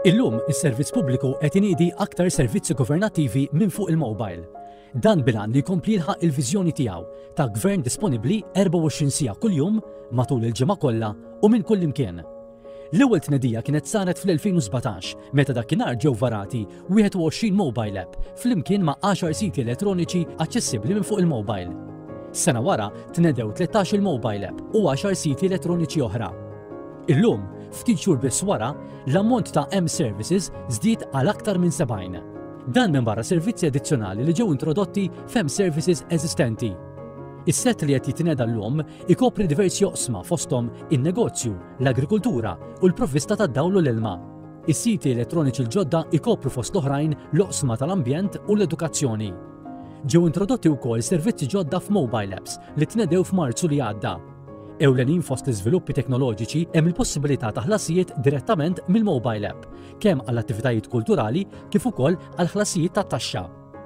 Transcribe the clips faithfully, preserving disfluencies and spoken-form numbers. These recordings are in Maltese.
Illum, is-servizz pubbliku qed iniedi aktar servizzi governattivi minn fuq il-mobile. Dan bil-għan li jkompli jilħaq il-viżjoni tiegħu ta' gvern disponibbli erbgħa u għoxrin siegħa kuljum matul il-ġimgħa kollha u minn kull imkien. L-ewwel tnedija kienet saret fl-elfejn u sbatax meta dakinhar ġew varati wieħed u għoxrin mobile app flimkien ma' għaxar siti elettroniċi aċċessibbli minn fuq il-mobile. Sena wara tnedew tlettax il-mobile app u għaxar siti elettroniċi oħra. Illum, ftit xhur biss wara, l-ammont ta' M-Services żdied għal aktar minn sebgħin. Dan minn barra servizzi addizzjonali li ġew introdotti f'M-Services eżistenti. Is-set li qed jitneda llum ikopri diversi oqsma, fosthom in-negozju, l-agrikultura u l-provvista tad-dawl u l-ilma. Is-siti elettroniċi l-ġodda ikopru fost l-oħrajn l-oqsma tal-ambjent u l-edukazzjoni. Ġew introdotti wkoll servizzi ġodda f'mobile apps li tnedew f'Marzu li għadda. Ewlenin fost l-iżviluppi teknoloġiċi hemm il-possibilità ta' ħlasijiet direttament mill-mobile app, kemm għall attivitajiet kulturali kif ukoll għal ħlasijiet ta' taxxa.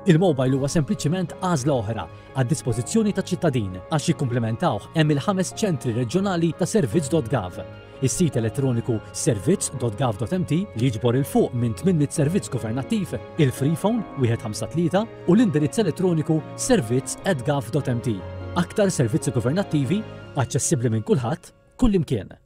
Il-mobile huwa sempliċiment għażla oħra għad dispożizzjoni ta' ċittadin. Għax jikkumplementawh hemm il-ħames ċentri reġjonali ta' servizz punt gov. Is-sit elettroniku servizz punt gov punt M T li jiġbor 'il fuq minn tmien mitt servizz governattiv, il-Freephone wieħed ħamsa tlieta u l-indirizz elettroniku servizz at gov punt M T. Aktar servizzi governattivi aċċessibbli minn kulħadd, kullimkien.